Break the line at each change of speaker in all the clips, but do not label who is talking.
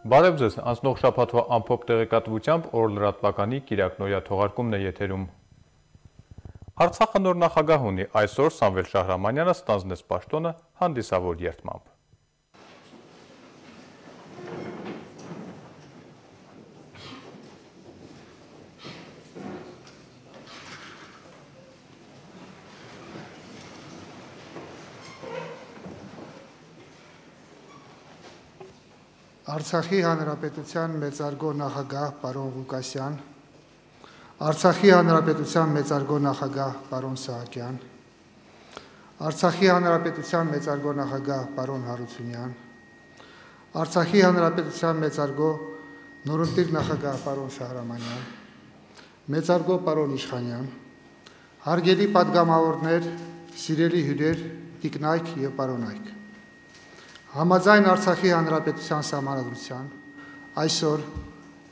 Բարև ձեզ, անցնող շաբաթվա ամփոփ տեղեկատվությամբ օր լրատվականի Կիրակ Նոյա թողարկումն է եթերում։ Արցախը նոր նախագահ ունի, այսօր Սամվել Շահրամանյանը ստանձնեց պաշտոնը հանդիսավոր երդմամբ։
Արցախի Հանրապետության մեծարգո նախագահ պարոն Ղուկասյան, Արցախի Հանրապետության մեծարգո նախագահ պարոն Սահակյան, Արցախի Հանրապետության մեծարգո նախագահ պարոն Հարությունյան, Արցախի Հանրապետության մեծարգո նորընտիր նախագահ պարոն Շահրամանյան, մեծարգո պարոն Իշխանյան, հարգելի պատգամավորներ, սիրելի հյուրեր, տիկնայք եւ պարոնայք։ Համաձայն Արցախի Հանրապետության Սահմանադրության այսօր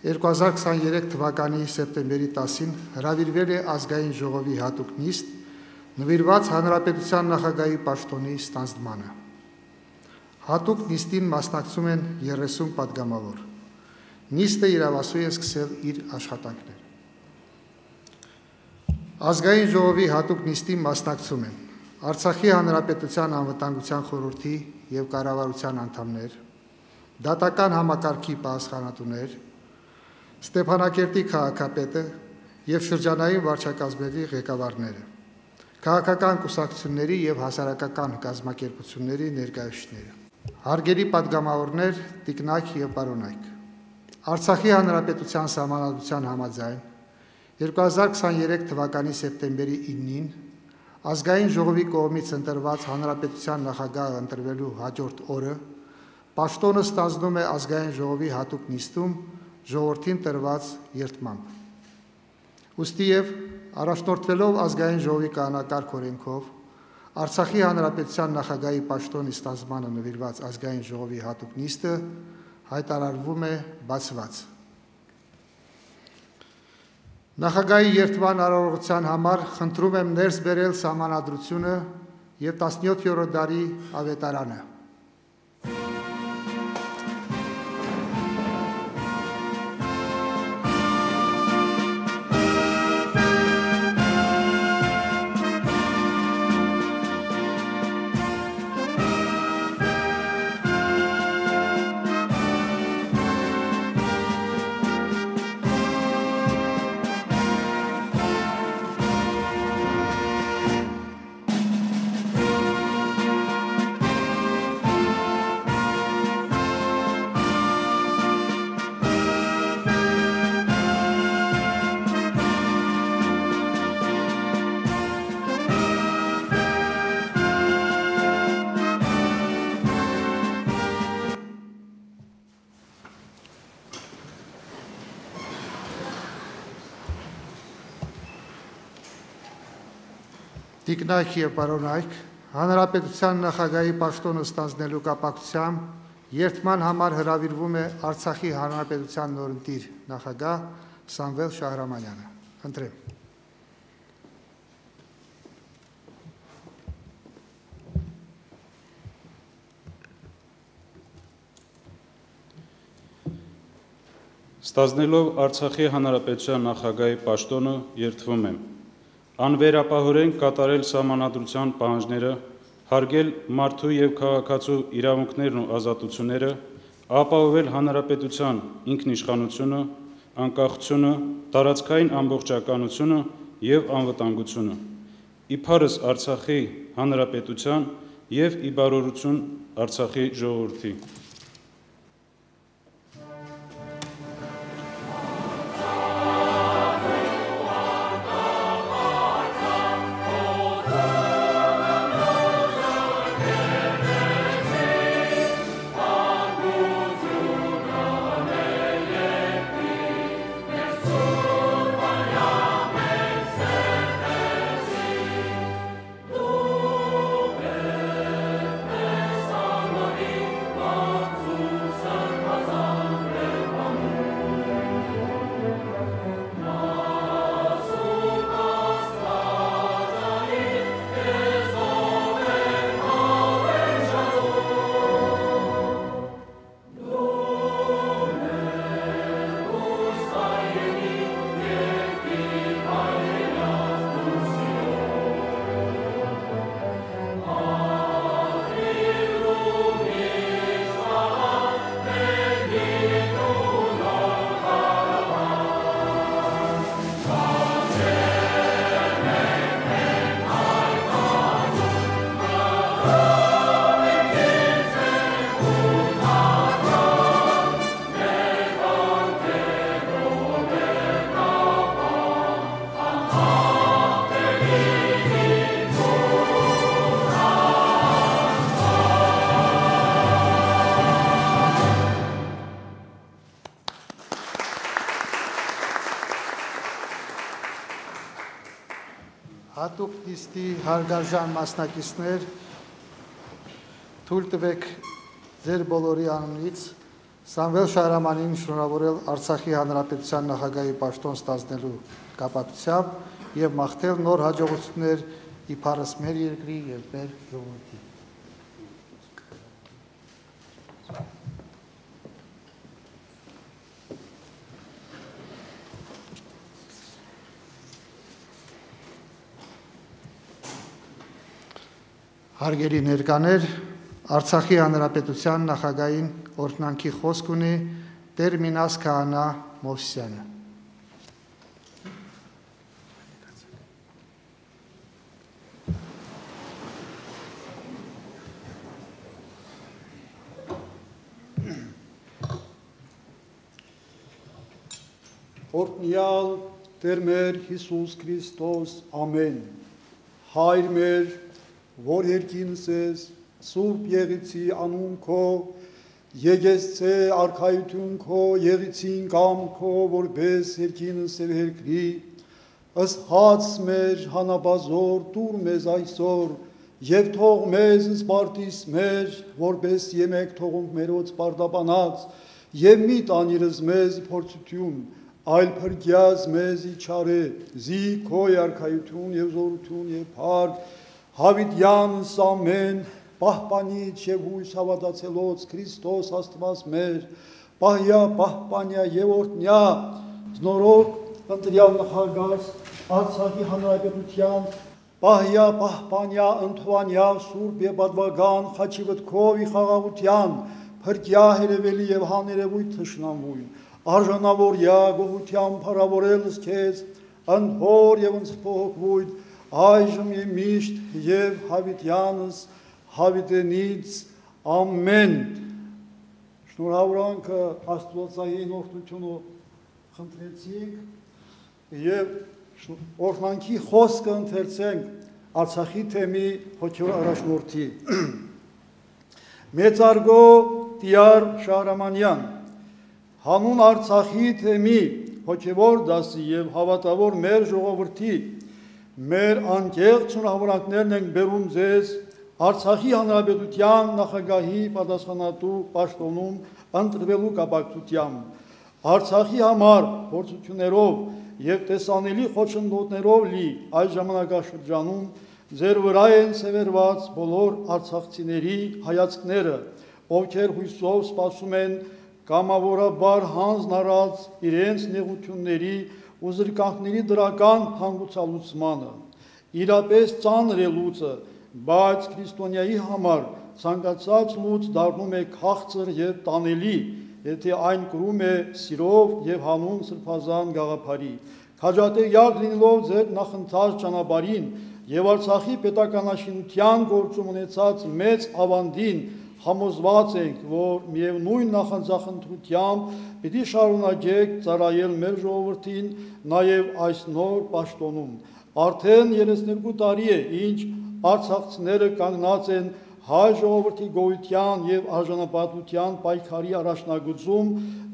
2023 թվականի սեպտեմբերի 10-ին հրավիրվել է ազգային ժողովի հատուկ նիստ նվիրված Հանրապետության նախագահի պաշտոնի ստանձնմանը։ Հատուկ նիստին մասնակցում են 30 պատգամավոր։ Նիստը իրավասու է սկսել իր աշխատանքները։ Ազգային ժողովի հատուկ նիստին մասնակցում են Արցախի Հանրապետության անվտանգության խորհրդի եւ կառավարության անդամներ, դատական համակարգի պահեստականատուներ, Ստեփանակերտի քաղաքապետը եւ շրջանային վարչակազմերի ղեկավարները, քաղաքական կուսակցությունների եւ հասարակական կազմակերպությունների ներկայացուցիչները, հարգելի պատգամավորներ, տիկնայք եւ պարոնայք։ Արցախի Հանրապետության Սահմանադրության համաձայն 2023 թվականի սեպտեմբերի 9-ին Ազգային ժողովի կողմից ընտրված Հանրապետության նախագահը ընտրվելու հաջորդ օրը պաշտոնը ստանձնում է Ազգային ժողովի հատուկ նիստում ժողովրդին տրված երդմամբ։ Ուստի եւ առաջնորդվելով Ազգային ժողովի կանոնակարգ օրենքով Արցախի Հանրապետության նախագահի պաշտոնի ստանձնմանը նվիրված Ազգային ժողովի հատուկ նիստը հայտարարվում է բացված։ Նախագահի երդման արարողության համար խնդրում եմ ներս բերել Սահմանադրությունը եւ 17-րդ դարի ավետարանը։ Տիկնայք եւ պարոնայք, Հանրապետության նախագահի պաշտոնը ստանձնելու կապակցությամբ երդման համար հրավիրվում է Արցախի Հանրապետության նորընտիր նախագահ Սամվել Շահրամանյանը։ Խնդրեմ։
Ստանձնելով Արցախի Հանրապետության նախագահի պաշտոնը երդվում եմ անվերապահորեն կատարել Սահմանադրության պահանջները, հարգել մարդու եւ քաղաքացու իրավունքներն ու ազատությունները, ապահովել հանրապետության ինքնիշխանությունը, անկախությունը, տարածքային ամբողջականությունը եւ անվտանգությունը, իբարս Արցախի Հանրապետության եւ ի բարօրություն Արցախի ժողովրդի։
Ո
հատուկ նիստի հարգարժան մասնակիցներ, թույլ տվեք ձեր բոլորի անունից Սամվել Շահրամանին շնորհավորել Արցախի Հանրապետության նախագահի պաշտոն ստանձնելու կապակցությամբ եւ մաղթել նոր հաջողություններ իբարս մեր երկրի եւ մեր ժողովրդի։ Հարգելի ներկաներ, Արցախի Հանրապետության նախագահին օրհնանքի խոսք ունի Տեր Մինաս Քահանա Մովսիսյանը։
Օրհնյալ Տեր մեր Հիսուս Քրիստոս, ամեն, Հայր մեր, որ երկինս ես, Սուրբ եղիցի անուն քո, եկեցցե արքայություն քո, եղիցին կամ քո, որպես երկինս և երկրի, ըստ հաց մեր հանաբազոր, տուր մեզ այսօր, և թող մեզ սպարտիս մեր, որպես եմեք թողունք մերոց պարտաբանած, և մի տանիրս մեզ փորձություն, այլ փրկյաց մեզ իչարե, զի քո արքայություն և զորություն և փառք, Հավիտյանս ամեն, պահպանիչ և հույս հավատացելոց Քրիստոս Աստված մեր, պահյա, պահպանյա և օրհնյա, զնորոգ ընտրյալ նախագահ Արցախի Հանրապետության, պահյա, պահպանյա, ընդհանյա, սուրբ և պատվական, խաչի վտքով ի խաղաղության, փրկյա հերևելի և հաներևույթ թշնամույն, արժանավորյա գողության փառավորելս քեզ, ընդհոր և ընձփողոքվույթ, այժմ և միշտ և հավիտյանս հավիտենից ամեն։ Շնորհավորանքը Աստվածային օրհնությունը խնդրեցինք և օրհնանքի խոսքը ընթերցենք Արցախի թեմի հոգևոր առաջնորդի։ Մեծարգո Տիար Շահրամանյան, հանուն Արցախի թեմի հոգևոր դասի և հավատավոր մեր ժողովրդի մեր անկեղծ շնորհավորանքներն ենք բերում ձեզ Արցախի Հանրապետության նախագահի պատասխանատու պաշտոնում ընտրվելու կապակցությամբ Արցախի համար փորձություններով և տեսանելի խոչընդոտներով լի այս ժամանակաշրջանում ձեր վրա են սևեռված բոլոր արցախցիների հայացքները, ովքեր հույսով սպասում են կամավորաբար հանձն առած իրենց նեղությունների ու զրկանքների դրական հանգուցալուծմանը, իրապես ծանր է լուծը, բայց քրիստոնյայի համար ցանկացած լուծ դառնում է քաղցր և տանելի, եթե այն կրում է սիրով և հանուն սրբազան գաղափարի։ Քաջատեղյակ լինելով ձեր նախընթաց ճանապարհին և Արցախի պետականաշինության գործում ունեցած մեծ ավանդին համոզված ենք, որ միևնույն նախանձախնդրությամբ պիտի շարունակեք ծառայել մեր ժողովրդին նաև այս նոր պաշտոնում։ Արդեն 32 տարի է, ինչ արցախցիները կանգնած են հայ ժողովրդի գոյության և արժանապատվության պայքարի առաջնագծում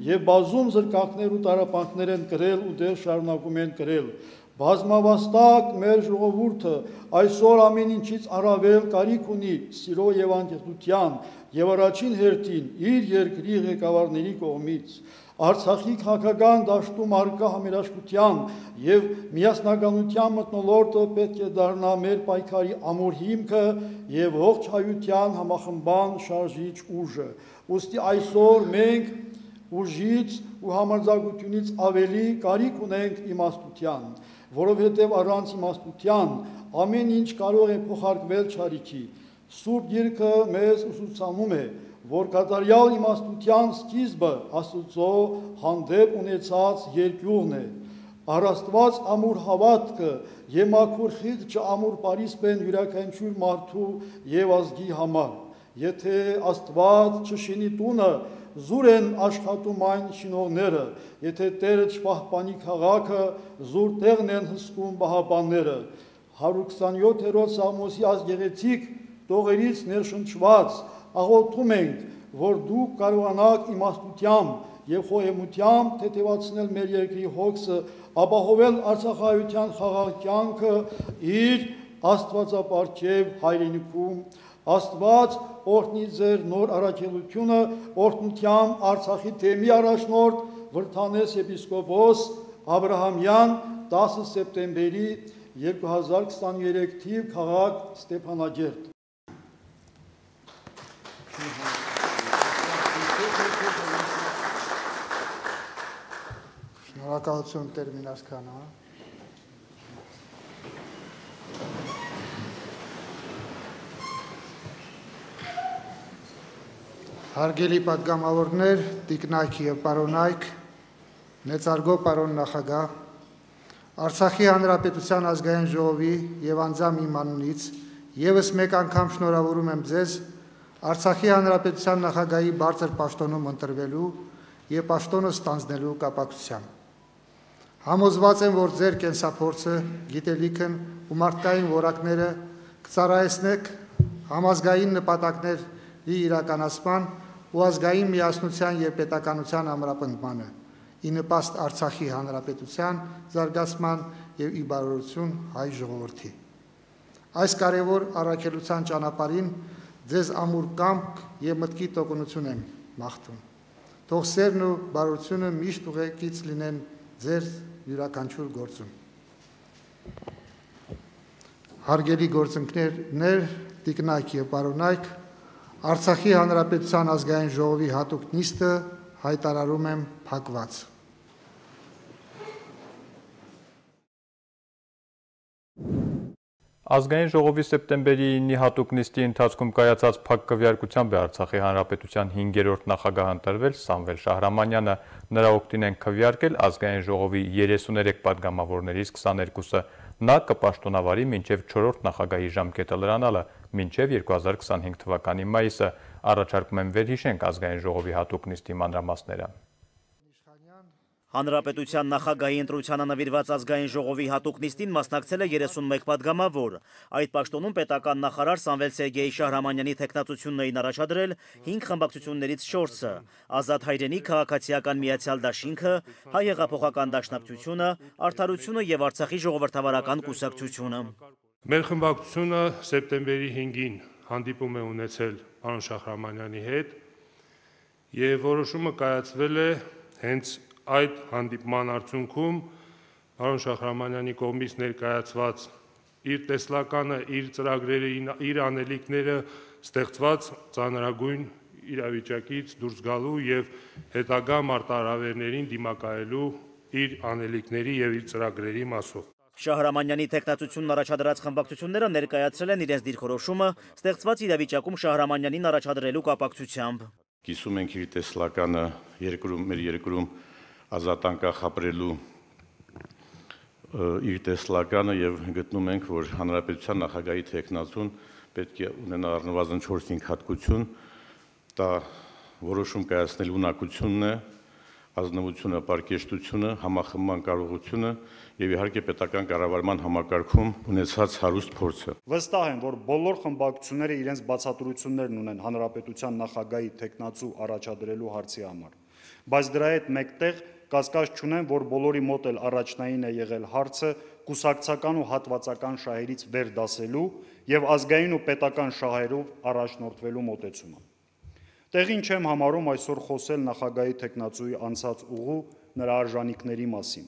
և բազում զրկանքներ ու տառապանքներ են կրել ու դեռ շարունակում են կրել։ Բազմավաստակ մեր ժողովուրդը այսօր ամեն ինչից առավել կարիք ունի սիրո և անկեղծության և առաջին հերթին իր երկրի ղեկավարների կողմից։ Արցախի քաղաքական դաշտում առկա համերաշխության և միասնականության մթնոլորտը պետք է դառնա մեր պայքարի ամուր հիմքը և ողջ հայության համախմբան շարժիչ ուժը։ Ուստի այսօր մենք ուժից ու համարձակությունից ավելի կարիք ունենք իմաստության, որովհետև առանց իմաստության ամեն ինչ կարող է փոխարկվել չարիքի։ Սուրբ Գիրքը մեզ ուսուցանում է, որ կատարյալ իմաստության սկիզբը Աստծո հանդեպ ունեցած երկյուղն է։ Առաստված ամուր հավատքը և մաքուր խիղճը ամուր պարիսպ են յուրաքանչյուր մարդու և ազգի համար։ Եթե Աստված չշինի տունը, զուր են աշխատում այն շինողները, եթե Տերը չպահպանի քաղաքը, զուր տեղն են հսկում պահապանները։ 127-րդ Սաղմոսի ազգեղեցիկ տողերից ներշնչված աղոթում ենք, որ դուք կարողանաք իմաստությամբ եւ խոհեմությամբ թեթևացնել մեր երկրի հոգսը, ապահովել Արցախայության խաղաղ կյանքը իր Աստվածապարգև հայրենիքում։ Աստված օրհնի ձեր նոր առաքելությունը, օրհնությամբ Արցախի թեմի առաջնորդ Վրթանես եպիսկոպոս Աբրահամյան 10 սեպտեմբերի 2023 թիվ քաղաք Ստեփանագերտ։
Շնորհակալություն Տեր Մինասքանը։ Հարգելի պատգամավորներ, տիկնայք եւ պարոնայք, մեծարգո պարոն նախագահ, Արցախի Հանրապետության ազգային ժողովի եւ անձամ իմ անունից եւս մեկ անգամ շնորհավորում եմ ձեզ Արցախի Հանրապետության նախագահի բարձր պաշտոնում ընտրվելու եւ պաշտոնը ստանձնելու կապակցությամբ։ Համոզված եմ, որ ձեր կենսափորձը, գիտելիքն ու մարդկային որակները կծառայեցնեք համազգային նպատակների իրականացման ու ազգային միասնության եւ պետականության ամրապնդմանը, ի նպաստ Արցախի Հանրապետության զարգացման եւ ի բարօրություն հայ ժողովրդի։ Այս կարևոր առաքելության ճանապարհին ձեզ ամուր կամք եւ մտքի տոկունություն եմ մաղթում։ Թող սերն ու բարօրությունը միշտ ուղեկից լինեն ձեր յուրաքանչյուր գործում։ Հարգելի գործընկերներ, տիկնայք եւ պարոնայք, Արցախի Հանրապետության ազգային ժողովի հատուկ նիստը հայտարարում եմ փակված։
Ազգային ժողովի սեպտեմբերի 9-ի հատուկ նիստի ընթացքում կայացած փակ քվեարկությամբ է Արցախի Հանրապետության 5-րդ նախագահ ընտրվել Սամվել Շահրամանյանը, նրա օգտին են քվեարկել ազգային ժողովի 33 պատգամավորներից 22-ը, նա կպաշտոնավարի մինչև 4-րդ նախագահի ժամկետը լրանալը, մինչև 2025 թվականի մայիսը, առաջարկում եմ վերհիշենք ազգային ժողովի հատուկ նիստի մանրամասները։
Հանրապետության նախագահի ընտրությանը նվիրված ազգային ժողովի հատուկ նիստին մասնակցել է 31 պատգամավոր։ Այդ պաշտոնում պետական նախարար Սամվել Սերգեյ Շահրամանյանի թեկնածությունն էին առաջադրել 5 խմբակցություններից 4-ը՝ Ազատ հայրենիք, Քաղաքացիական միացյալ դաշինքը, Հայ հեղափոխական դաշնակցությունը, Արդարությունը եւ Արցախի ժողովրդավարական կուսակցությունը։
Մեր խմբակցությունը սեպտեմբերի 5-ին հանդիպում է ունեցել պարոն Շահրամանյանի հետ եւ որոշումը կայացվել է հենց այդ հանդիպման արդյունքում պարոն Շահրամանյանի կողմից ներկայացված իր տեսլականը, իր ծրագրերը, իր անելիքները ստեղծված ծանրագույն իրավիճակից դուրս գալու եւ հետագա մարտահրավերներին դիմակայելու իր անելիքների եւ իր ծրագրերի մասով։
Շահրամանյանի թեկնածությունն առաջադրած խմբակցությունները ներկայացրել են իրենց դիրքորոշումը ստեղծված իրավիճակում Շահրամանյանին առաջադրելու կապակցությամբ։
Կիսում ենք իր տեսլականը մեր երկրում ազատ անկախ ապրելու իր տեսլականը եւ գտնում ենք, որ հանրապետության նախագահի թեկնածուն պետք է ունենա առնվազն 4-5 հատկություն, դա որոշում կայացնելու ունակությունն է, ազնվությունը, պարկեշտությունը, համախմբման կարողությունը եւ իհարկե պետական կառավարման համակարգում ունեցած հարուստ փորձը։
Վստահ եմ, որ բոլոր խմբակցությունները իրենց բացատրություններն ունեն հանրապետության նախագահի թեկնածու առաջադրելու հարցի համար։ Բայց դրա հետ մեկտեղ կասկած չունեմ, որ բոլորի մոտ էլ առաջնային է եղել հարցը կուսակցական ու հատվածական շահերից վեր դասելու եւ ազգային ու պետական շահերով առաջնորդվելու մոտեցումը։ Տեղին չեմ համարում այսօր խոսել նախագահի թեկնածուի անցած ուղու նրա արժանինքների մասին,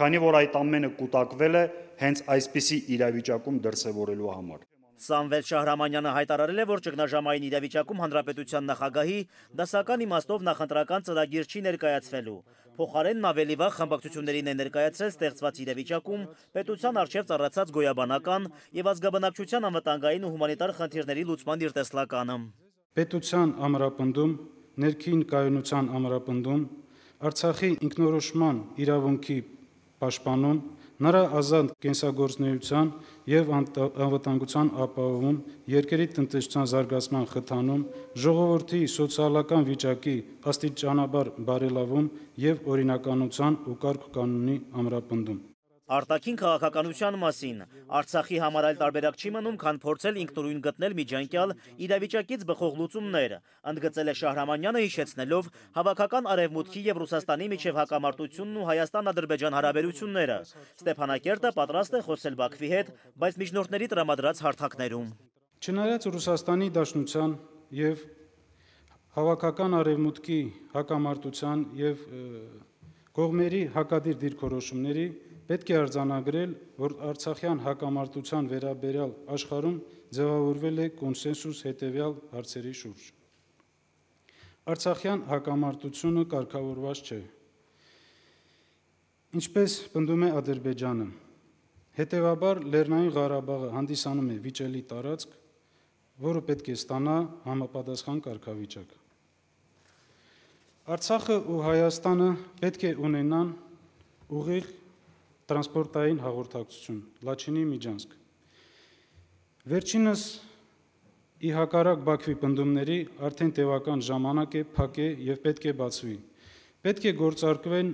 քանի որ այդ ամենը կուտակվել է հենց այսպիսի իրավիճակում դրսևորելու համար։
Սամվել Շահրամանյանը հայտարարել է, որ ճգնաժամային իրավիճակում հանրապետության նախագահի դասական իմաստով նախընտրական ծրագիր չի ներկայացվելու։ Փոխարենն ավելի վաղ խմբակցություններին է ներկայացրել ստեղծված իրավիճակում պետության առջև ծառացած գոյաբանական եւ ազգաբնակչության անվտանգային ու հումանիտար խնդիրների լուծման իր տեսլականը։
Պետության ամրապնդում, ներքին կայունության ամրապնդում, Արցախի ինքնորոշման իրավունքի պաշտպանում, նրա ազատ կենսագործունեության եւ անվտանգության ապահովում, երկրի տնտեսության զարգացման խթանում, ժողովրդի սոցիալական վիճակի աստիճանաբար բարելավում եւ օրինականության ու կարգ կանոնի ամրապնդում։
Արտաքին քաղաքականության մասին Արցախի համար այլ տարբերակ չի մնում, քան փորձել ինքնուրույն գտնել միջանկյալ իրավիճակից բխող լուծումներ, ընդգծել է Շահրամանյանը, հիշեցնելով հավաքական Արևմուտքի եւ Ռուսաստանի միջև հակամարտությունն ու Հայաստան-Ադրբեջան հարաբերությունները։ Ստեփանակերտը պատրաստ է խոսել Բաքվի հետ, բայց միջնորդների տրամադրած հարթակներում։
Չնայած Ռուսաստանի Դաշնության եւ հավաքական Արևմուտքի հակամարտության եւ կողմերի հակադիր դիրքորոշումների պետք է արձանագրել, որ Արցախյան հակամարտության վերաբերյալ աշխարհում ձևավորվել է կոնսենսուս հետևյալ հարցերի շուրջ։ Արցախյան հակամարտությունը կարգավորված չէ։ Ինչպես պնդում է Ադրբեջանը, հետևաբար Լեռնային Ղարաբաղը հանդիսանում է վիճելի տարածք, որը պետք է ստանա համապատասխան կարգավիճակ։ Արցախը ու Հայաստանը պետք է ունենան ուղիղ տրանսպորտային հաղորդակցություն, Լաչինի Միջանցք։ Վերջինս ի հակառակ Բաքվի պնդումների արդեն տևական ժամանակ է փակ է եւ պետք է բացվի։ Պետք է գործարկվեն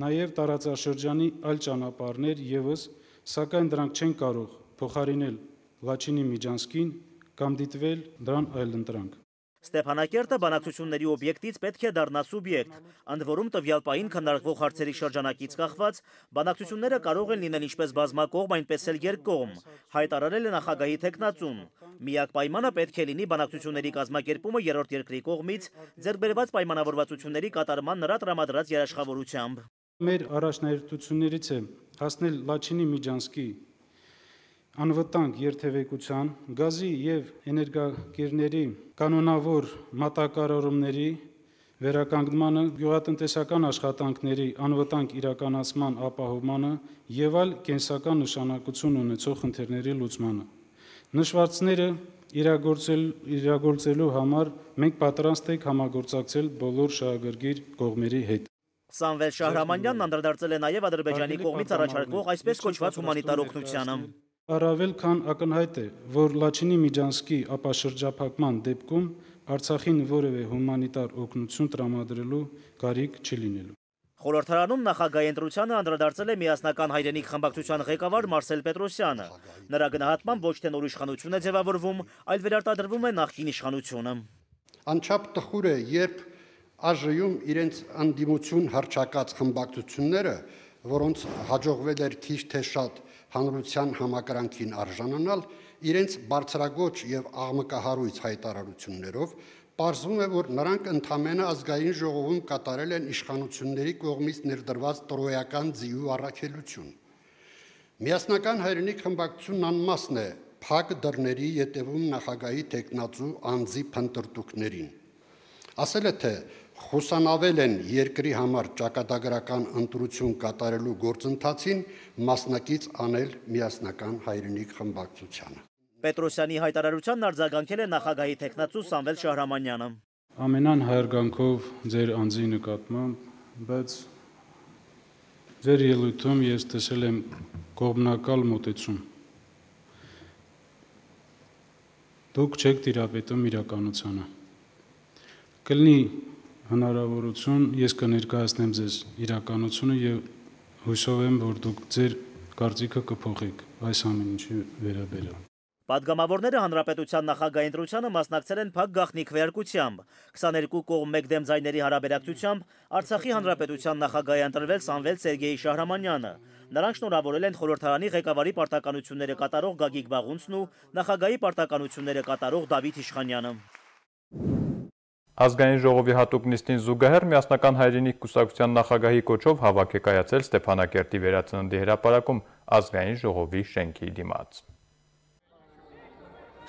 նաեւ տարածաշրջանի այլ ճանապարհներ եւս, սակայն դրանք չեն կարող փոխարինել Լաչինի Միջանցքին կամ դիտվել դրան այլընտրանք։
Ստեփանակերտը բանակցությունների օբյեկտից պետք է դառնա սուբյեկտ, ընդ որում տվյալ պահին քննարկվող հարցերի շրջանակից կախված բանակցությունները կարող են լինել ինչպես բազմակողմ, այնպես էլ երկկողմ, հայտարարել է նախագահի թեկնածուն։ Միակ պայմանը պետք է լինի բանակցությունների կազմակերպումը երրորդ երկրի կողմից ձեռքբերված պայմանավորվածությունների կատարման նրա տրամադրած երաշխավորությամբ։
Մեր առաջնահերթություններից է հասնել Լաչինի Միջանցքի անվտանգ երթևեկության, գազի եւ էներգակիրների կանոնավոր մատակարարումների վերականգնմանը, գյուղատնտեսական աշխատանքների անվտանգ իրականացման ապահովմանը եւ այլ կենսական նշանակություն ունեցող խնդիրների լուծմանը։ Նշվածները իրագործելու համար մենք պատրաստ ենք համագործակցել բոլոր շահագրգիռ կողմերի հետ։
Սամվել Շահրամանյանն անդրադարձել է նաեւ Ադրբեջանի կողմից առաջարկվող այսպես կոչված հումանիտար օգնությանը։
Առավել քան ակնհայտ է, որ Լաչինի Միջանցքի ապաշրջափակման դեպքում Արցախին որևէ հումանիտար օգնություն տրամադրելու կարիք չի լինելու։
Խորհրդարանում նախագահի ընտրությանը անդրադարձել է միասնական հայրենիք խմբակցության ղեկավար Մարսել Պետրոսյանը։ Նրա գնահատմամբ ոչ թե նոր իշխանություն է ձևավորվում, այլ վերարտադրվում է նախկին իշխանությունը։
Անչափ տխուր է, երբ ԱԺ-ում իրենց անդիմություն հռչակած խմբակցությունները, որոնց հաջողվել էր քիչ թե շատ հանրության համակրանքին արժանանալ, իրենց բարձրագոչ եւ աղմկահարույց հայտարարություններով պարզվում է, որ նրանք ընդամենը ազգային ժողովում կատարել են իշխանությունների կողմից ներդրված տրոյական ձիու առաքելություն։ Միասնական հայրենիք խմբակցությունն անմասն է փակ դռների ետևում նախագահի տեխնացու անձի փնտրտուքներին։ Ասել է, թե խուսանավել են երկրի համար ճակատագրական ընտրություն կատարելու գործընթացին մասնակից անել միասնական հայրենիք խմբակցությանը։
Պետրոսյանի հայտարարությանն արձագանքել է նախագահի տեխնացու Սամվել Շահրամանյանը։
Ամենան հայրգանքով ձեր անձի նկատմամբ, բայց ձեր ելույթում ես տեսել եմ կողմնակալ մոտեցում։ Դուք չեք տիրապետում իրականությանը։ Կլինի հնարավորություն, ես կներկայացնեմ ձեզ իրականությունը եւ հույսով եմ, որ դուք ձեր կարծիքը կփոխեք այս ամեն ինչի վերաբերյալ։
Պատգամավորները հանրապետության նախագահի ընտրությանը մասնակցել են փակ գաղտնի քվեարկությամբ։ 22 կողմ մեկ դեմ ձայների հարաբերակցությամբ Արցախի հանրապետության նախագահի ընտրվել Սամվել Սերգեյ Շահրամանյանը։ Նրանք շնորհավորել են խորհրդարանի ղեկավարի պարտականությունները կատարող Գագիկ Բաղունցն ու նախագահի պարտականությունները կատարող Դավիթ Իշխանյանը։
Ազգային ժողովի հատուկ նիստին զուգահեռ միասնական հայրենիք կուսակցության նախագահի կոչով հավաք է կայացել Ստեփանակերտի վերածննդի հրապարակում ազգային ժողովի շենքի դիմաց։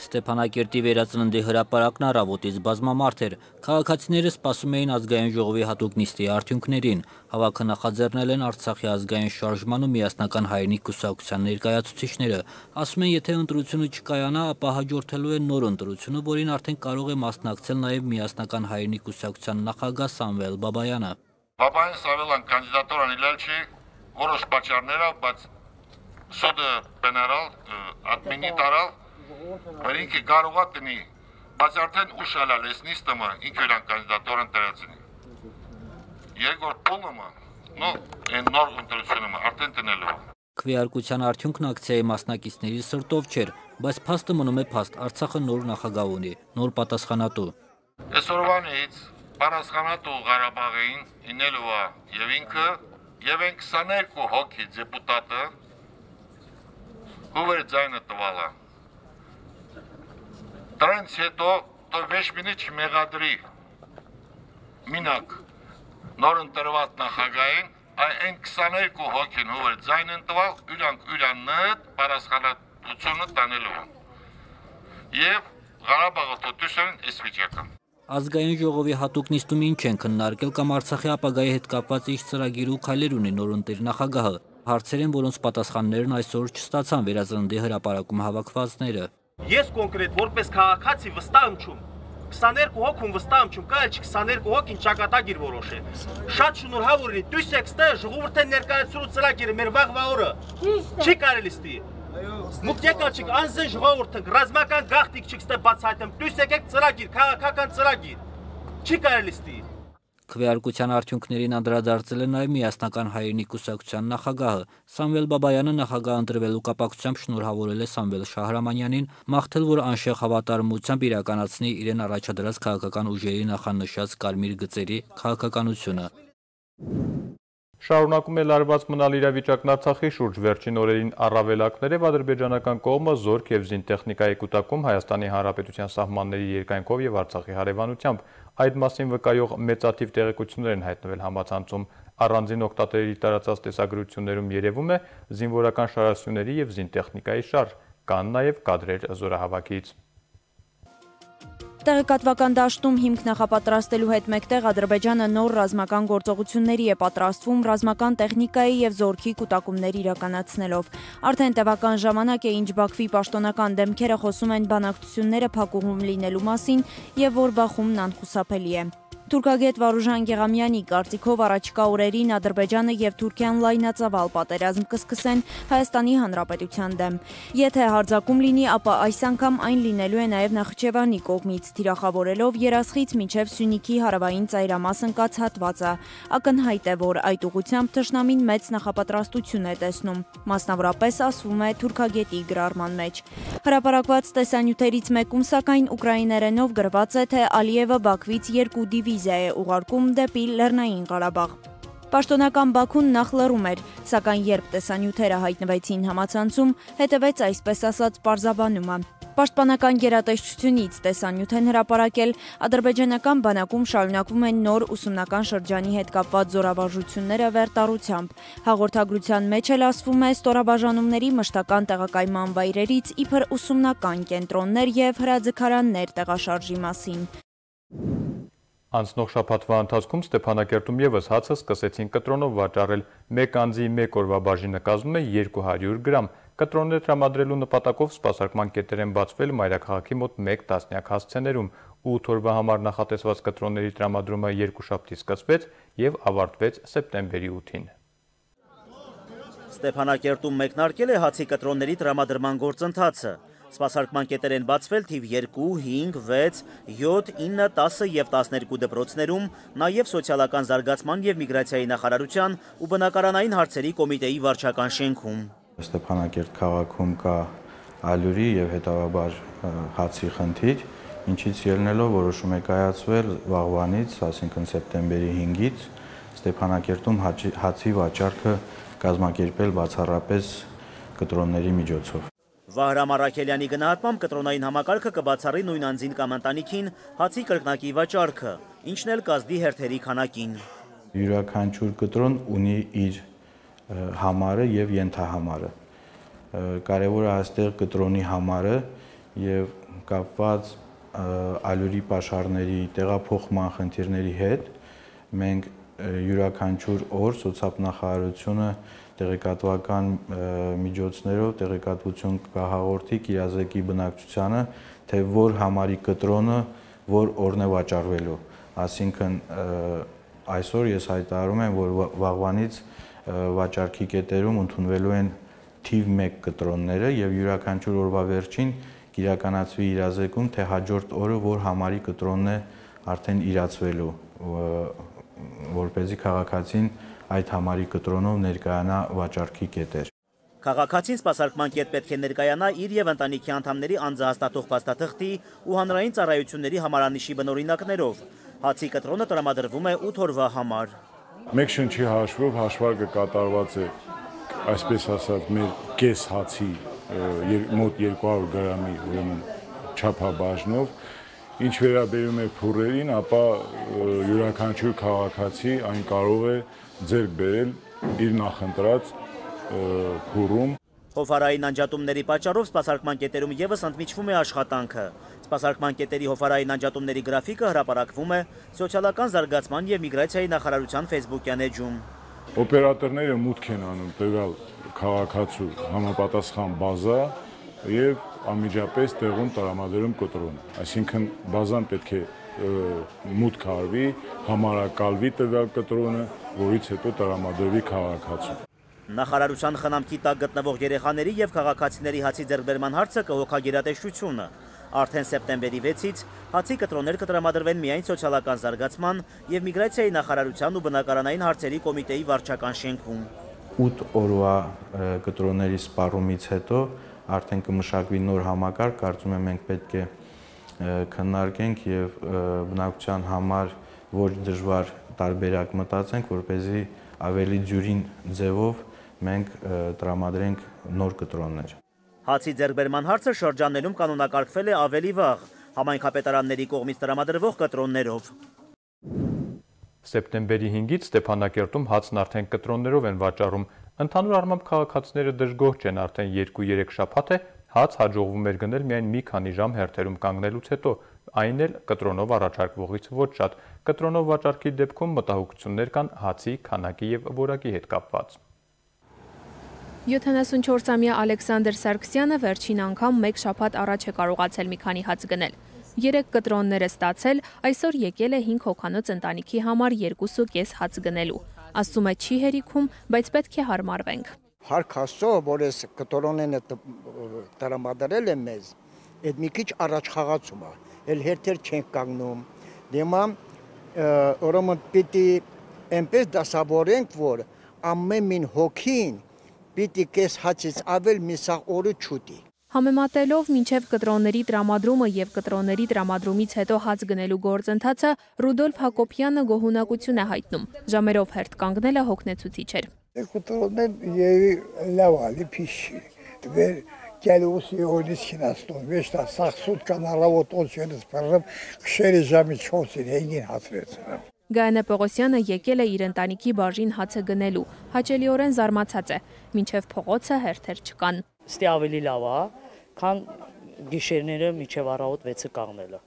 Ստեփանակերտի վերածննդի հրապարակն առավոտից բազմամարդ էր։ Քաղաքացիները սպասում էին ազգային ժողովի հատուկ նիստի արդյունքներին։ Հավաքը նախաձեռնել են Արցախի ազգային շարժման ու միասնական հայրենիք կուսակցության ներկայացուցիչները։ Ասում են, եթե ընտրությունը չկայանա, ապա հաջորդելու է նոր ընտրությունը, որին արդեն կարող է մասնակցել նաև միասնական հայրենիք կուսակցության նախագահ Սամվել Բաբայանը։
Բաբայան Սամվելան կանդիդատուրան իլել չի որոշ պատճառներով, բայց սուդը բնարալ ադմինի տարալ որ ինքը կարող է տնի, բայց արդեն ուշ ալալ ես նիստըմը ինքը իրան կանդիդատորն տրացնի։ Երկրորդ պոլումը, նոր ընտրությունումը արդեն տնելու։
Քվեարկության արդյունքն ակցիայի մասնակիցների սրտով չէր, բայց փաստը մնում է փաստ, Արցախը նոր նախագահ ունի, նոր պատասխանատու։
Այսօրվանից պատասխանատու Ղարաբաղին ինելու է եւ ինքը եւ են 22 հոգի դեպուտատը ով էր ձայնը տվալը։ Դրանց հետո վերջինի չմեղադրի մինակ նոր ընտրված նախագահին այն 22 հոգին ով էր ձայնն տվալ ուրանդ պատասխանատվությունը տանելու եւ Ղարաբաղը թոտուսեն այս վիճակը։
Ազգային ժողովի հատուկ նիստում ինչ են քննարկել կամ Արցախի ապագայի հետ կապված ինչ ծրագիր ու քայլեր ունի նորընտիր նախագահը։ Հարցեր են, որոնց պատասխաններն այսօր չստացան Վերածննդի հրապարակում հավաքվածները։
Ես կոնկրետ որպես քաղաքացի վստահ եմ չում 22 հոգում վստահ եմ չում կա 22 հոգին ճակատագիր որոշել։ Շատ շնորհավոր լինի դույս եք ստե ժողովրդի ներկայացրու ծրագիրը մեր վաղվա օրը։ Չի կարելի ստի։ Մուք եկաչիկ անձն ժողովուրդը ռազմական գաղտնիք չկստե բացահայտեմ դույս եկեք ծրագիր քաղաքական ծրագիր։ Չի կարելի ստի։
Քվեարկության արդյունքներին անդրադարձել է նաև Միասնական հայրենի կուսակցության նախագահը։ Սամվել Բաբայանը նախագահ ընտրվելու կապակցությամբ շնորհավորել է Սամվել Շահրամանյանին, մաղթել, որ անշեղ հավատարմությամբ իրականացնի իրեն առաջադրած քաղաքական ուժերի նախանշած կարմիր գծերի քաղաքականությունը։
Շարունակում է լարված մնալ իրավիճակն Արցախի շուրջ վերջին օրերին առավելակներով ադրբեջանական կողմը զորք եւ զինտեխնիկայի կուտակում Հայաստանի Հանրապետության սահմանների երկայնքով եւ Արցախի հարևանությամբ այդ մասին վկայող մեծաթիվ տեղեկություններ են հայտնվել համացանցում առանձին օգտատերերի տարածած տեսագրություններում երևում է զինվորական շարասյուների եւ զինտեխնիկայի շարժ, կան նաեւ կադրեր զորահավաքից։
Տեղեկատվական դաշտում հիմք նախապատրաստելու հետ մեկտեղ Ադրբեջանը նոր ռազմական գործողությունների է պատրաստվում ռազմական տեխնիկայի եւ զորքի կուտակումներ իրականացնելով։ Արդեն տևական ժամանակ է, ինչ Բաքվի պաշտոնական դեմքերը խոսում են բանակցությունները փակուղում լինելու մասին եւ որ բախումն անխուսափելի է։ Թուրքագետ Վարուժան Գեղամյանի կարծիքով առաջիկա օրերին Ադրբեջանը եւ Թուրքիան լայնածավալ պատերազմ կսկսեն Հայաստանի Հանրապետության դեմ։ Եթե հարձակում լինի, ապա այս անգամ այն լինելու է նաեւ Նախիջևանի կողմից, թիրախավորելով Երասխից մինչեւ Սյունիքի հարավային ծայրամաս ընկած հատվածը։ Ակնհայտ է, որ այդ ուղղությամբ թշնամին մեծ նախապատրաստություն է տեսնում, մասնավորապես ասվում է թուրքագետի գրառման մեջ։ Հրապարակված տեսանյութերից մեկում սակայն ուկրաիներենով գրված է, թե Ալիևը Բաքվից 2 դիվիզիա է ուղարկում դեպի Լեռնային Ղարաբաղ։ Պաշտոնական Բաքուն նախ լռում էր, սակայն երբ տեսանյութերը հայտնվեցին համացանցում, հետևեց այսպես ասած պարզաբանումը։ Պաշտպանական գերատեսչությունից տեսանյութ են հրապարակել, ադրբեջանական բանակում շարունակվում են նոր ուսումնական շրջանի հետ կապված զորավարժությունները վերտառությամբ։ Հաղորդագրության մեջ էլ ասվում է ստորաբաժանումների մշտական տեղակայման վայրերից իբր ուսումնական կենտրոններ եւ հրաձգարաններ տեղաշարժի մասին։
Անցնող շաբաթվա ընթացքում Ստեփանակերտում եւս հացը սկսեցին կտրոնով վաճառել։ Մեկ անձի մեկ օրվա բաժինը կազմում է 200 գրամ։ Կտրոններ տրամադրելու նպատակով սպասարկման կետեր են բացվել մայրաքաղաքի մոտ 1 տասնյակ հասցեներում։ 8 օրվա համար նախատեսված կտրոնների տրամադրումը երկուշաբթի սկսվեց եւ ավարտվեց սեպտեմբերի 8-ին։
Ստեփանակերտում մեկնարկել է հացի կտրոնների տրամադրման գործընթացը։ Սպասարկման կետեր են բացվել թիվ 2, 5, 6, 7, 9, 10 և 12 դպրոցներում, նաև սոցիալական զարգացման և միգրացիայի նախարարության ու բնակարանային հարցերի կոմիտեի վարչական շենքում։
Ստեփանակերտ քաղաքում կա ալյուրի և հետևաբար հացի խնդիր, ինչից ելնելով որոշում է կայացվել վաղվանից, այսինքն սեպտեմբերի 5-ից, Ստեփանակերտում հացի վաճառքը կազմակերպել բացառապես կտրոնների միջոցով։
Վահրամ Առաքելյանի գնահատմամբ կտրոնային համակարգը կբացառի նույն անձին կամ ընտանիքին հացի կրկնակի վաճառքը, ինչն էլ կազդի հերթերի քանակին։
Յուրաքանչյուր կտրոն ունի իր համարը եւ ենթահամարը։ Կարևորը այստեղ կտրոնի համարը եւ կապված ալյուրի պաշարների տեղափոխման խնդիրների հետ մենք յուրաքանչյուր օր սոցիալնախարարությունը տեղեկատվական միջոցներով տեղեկատվություն կհաղորդի կիրազեկի բնակչությանը, թե որ համարի կտրոնը որ օրն է վաճառվելու։ Այսինքն այսօր ես հայտարարում եմ, որ վաղվանից վաճառքի կետերում ընդունվելու են թիվ 1 կտրոնները եւ յուրաքանչյուր օրվա վերջին կիրականացվի իրազեկում, թե հաջորդ օրը որ համարի կտրոնն է արդեն իրացվելու, որպեսզի քաղաքացին այդ համարի կտրոնով ներկայանա վաճառքի կետեր։
Քաղաքացին սպասարկման կետ պետք է ներկայանա իր եւ ընտանիքի անդամների անձահաստատող փաստաթղթի ու հանրային ծառայությունների համարանիշի բնօրինակներով։ Հացի կտրոնը տրամադրվում է 8 օրվա համար։
Մեկ շնչի հաշվով հաշվարկը կատարված է, այսպես ասած, մեր կես հացի մոտ 200 գրամի ուրեմն չափաբաժնով, ինչ վերաբերում է փուռերին, ապա յուրաքանչյուր քաղաքացի այն կարող է ձեռք բերել իր նախընտրած փուռում։
Հոֆարային անջատումների պատճառով սպասարկման կետերում եւս ընդմիջվում է աշխատանքը։ Սպասարկման կետերի հոֆարային անջատումների գրաֆիկը հրապարակվում է Սոցիալական զարգացման եւ միգրացիայի նախարարության Facebook-յան էջում։
Օպերատորները մուտք են անում տվյալ քաղաքացու համապատասխան բազա եւ անմիջապես տեղում տրամադրում կտրոն։ Այսինքն բազան պետք է մուտք արվի, համարակալվի տվյալ կտրոնը, որից հետո տրամադրվի քաղաքացու։
Նախարարության խնամքի տակ գտնվող երեխաների եւ քաղաքացիների հացի ձեռքբերման հարցը կհոգա գերատեսչությունը։ Արդեն սեպտեմբերի 6-ից հացի կտրոններ կտրամադրվեն միայն Սոցիալական զարգացման եւ միգրացիայի նախարարության ու բնակարանային հարցերի կոմիտեի վարչական շենքում։
8 օրվա կտրոնների սպառումից հետո արդեն կմշակվի նոր համակարգ, կարծում եմ մենք պետք է քննարկենք եւ բնակության համար ոչ դժվար տարբերակ մտածենք, որպեսզի ավելի դյուրին ձևով մենք տրամադրենք նոր կտրոններ։
Հացի ձեռքբերման հարցը շրջաններում կանոնակարգվել է ավելի վաղ, համայնքապետարանների կողմից տրամադրվող կտրոններով։
Սեպտեմբերի 5-ից Ստեփանակերտում հացն արդեն կտրոններով են վաճառում։ Ընդհանուր առմամբ քաղաքացիները դժգոհ չեն, արդեն 2-3 շաբաթ է հաց հաջողվում էր գնել միայն մի քանի ժամ հերթերում կանգնելուց հետո, այն էլ կտրոնով առաջարկվողից ոչ շատ։ Կտրոնով վաճառքի դեպքում մտահոգություններ կան հացի, քանակի եւ որակի հետ կապված։
74-ամյա Ալեքսանդր Սարգսյանը վերջին անգամ մեկ շաբաթ առաջ է կարողացել մի քանի հաց գնել։ 3 կտրոններ է ստացել, այսօր եկել է 5 հոգանոց ընտանիքի համար 2.5 հաց գնելու։ Ասում է չի հերիքում, բայց պետք է հարմարվենք։
Հարկ Աստծո, որ այս կտրոնները տրամադրել են մեզ, այդ մի քիչ առաջ խաղացում է, էլ հերթեր չենք կանգնում։ Դեմա ուրեմն պիտի այնպես դասավորենք, որ ամեն մին հոգին պիտի կես հացից ավել մի սաղ օրը չուտի։
Համեմատելով մինչև կտրոնների տրամադրումը եւ կտրոնների տրամադրումից հետո հաց գնելու գործընթացը Ռուդոլֆ Հակոբյանը գոհունակություն է հայտնում։ Ժամերով հերթ կանգնելը հոգնեցուցիչ էր։
Կտրոններ եւ լավ ալի փիշի։ Դեր գալուս իոնից քնաստուն, վեշտա սախսուտ կանարավոտ օցյոնից բռնում, քշերի ժամի 4-ին 5-ին հացրեցին։
Գայանե Պողոսյանը եկել է իր ընտանիքի բաժին հացը գնելու, հաճելիորեն զարմացած է, մինչև փողոցը հերթեր չկան։
Ստի ավելի լավ է, քան գիշերները մինչև առավոտ 6-ը կանգնելը։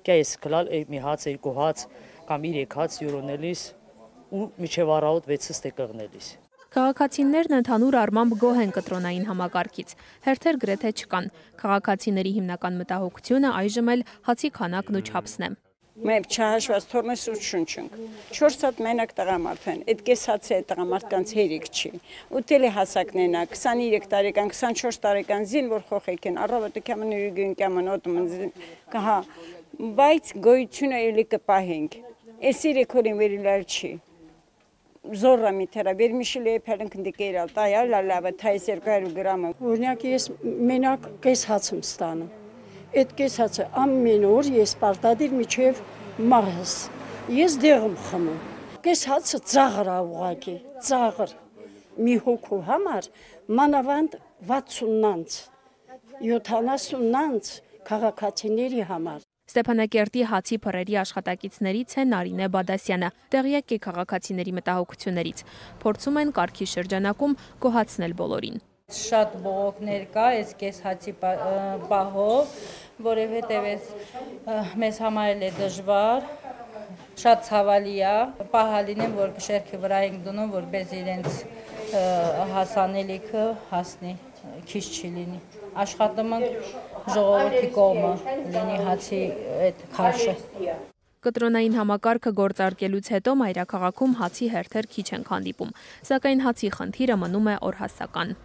Կես գլալ մի հաց, 2 հաց կամ 3 հաց յուրոնելիս ու մինչև առավոտ 6-ը ստե կանգնելիս։
Քաղաքացիներն ընդհանուր առմամբ գոհ են կտրոնային համակարգից, հերթեր գրեթե չկան։ Քաղաքացիների հիմնական մտահոգությունը այժմ էլ հացի քանակն ու չափսն է։
Մենք չհաշված թորմես ու շունչենք։ 4 հատ մենակ տղամարդ են, այդ կես հացը է տղամարդկանց հերիք չի։ Ուտելի հասակներն է, 23 տարեկան, 24 տարեկան զին, որ խոխեք են, առավոտը կամն ու գին կամն օտում կհա, բայց գոյությունը էլի կպահենք։ Այս 3 օրին վերիլալ չի։ Զորը միթերա, վերմիշիլ է փելենք դիկերալ, տայա լալավը, թայս 200 գրամը։
Օրինակ ես մենակ կես հաց եմ ստանում։ Այդ կես հացը ամեն օր ես պարտադիր միջև մահս, ես դեղ եմ խմում։ Կես հացը ծաղր է ուղղակի, ծաղր։ Մի հոգու համար մանավանդ 60-նանց, 70-նանց քաղաքացիների համար։
Ստեփանակերտի հացի փռերի աշխատակիցներից է Նարինե Բադասյանը, տեղյակ է քաղաքացիների մտահոգություններից։ Փորձում են կարգի շրջանակում գոհացնել բոլորին։
Շատ բողոքներ կա այս կես հացի պահով, որովհետև մեզ համար էլ է դժվար, շատ ցավալի է, պահալին եմ, որ շերքի վրա ենք դնում, որպես իրենց հասանելիքը հասնի, քիչ չի լինի։ Աշխատում ենք ժողովրդի կողմը լինի հացի այդ քաշը։
Կտրոնային համակարգը գործարկելուց հետո մայրաքաղաքում հացի հերթեր քիչ են հանդիպում, սակայն հացի խնդիրը մնում է օրհասական։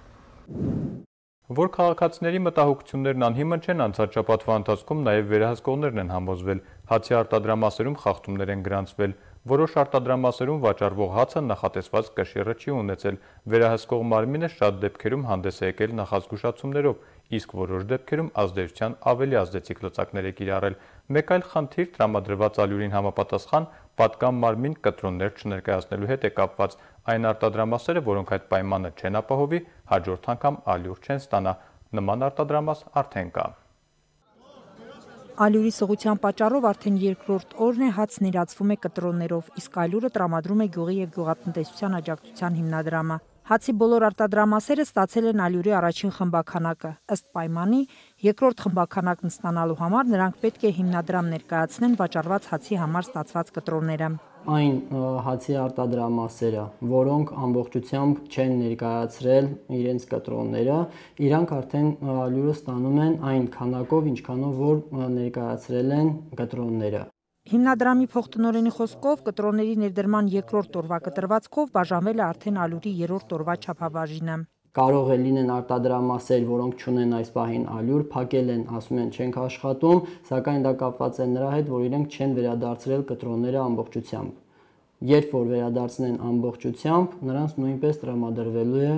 Որ քաղաքացիների մտահոգություններն անհիմն չեն, անցած շաբաթվա ընթացքում նաև վերահսկողներն են համոզվել, հացի արտադրամասերում խախտումներ են գրանցվել, որոշ արտադրամասերում վաճառվող հացը նախատեսված կշիռը չի ունեցել, վերահսկող մարմինը շատ դեպքերում հանդես է եկել նախազգուշացումներով, իսկ որոշ դեպքերում ազդեցության ավելի ազդեցիկ լծակներ է կիրառել։ Մեկ այլ խնդիր տրամադրված ալյուրին համապատասխան պատկան մարմին կտրոններ չներկայացնելու հետ է կապված։ Այն արտադրամասերը, որոնք այդ պայմանը չեն ապահովի, հաջորդ անգամ ալյուր չեն ստանա։ Նման արտադրամաս արդեն կա։
Ալյուրի սղության պատճառով արդեն երկրորդ օրն է հացն իրացվում է կտրոններով, իսկ ալյուրը տրամադրում է Գյուղի և գյուղատնտեսության աջակցության հիմնադրամը։ Հացի բոլոր արտադրամասերը ստացել են ալյուրի առաջին խմբաքանակը։ Ըստ պայմանի, երկրորդ խմբաքանակն ստանալու համար նրանք պետք է հիմնադրամ ներկայացնեն վաճառված հացի համար ստացված կտրոնները։
Այն հացի արտադրամասերը, որոնք ամբողջությամբ չեն ներկայացրել իրենց կտրոնները, իրանք արդեն ալյուրը ստանում են այն քանակով, ինչքանով որ ներկայացրել են կտրոնները։
Հիմնադրամի փոխտնօրենի խոսքով կտրոնների ներդրման երկրորդ օրվա կտրվածքով բաժանվել է արդեն ալյուրի երրորդ օրվա չափաբաժինը։
Կարող է լինեն արտադրամասեր, որոնք չունեն այս պահին ալյուր, փակել են, ասում են չենք աշխատում, սակայն դա կապված է նրա հետ, որ իրենք չեն վերադարձրել կտրոնները ամբողջությամբ։ Երբ որ վերադարձնեն ամբողջությամբ, նրանց նույնպես տրամադրվելու է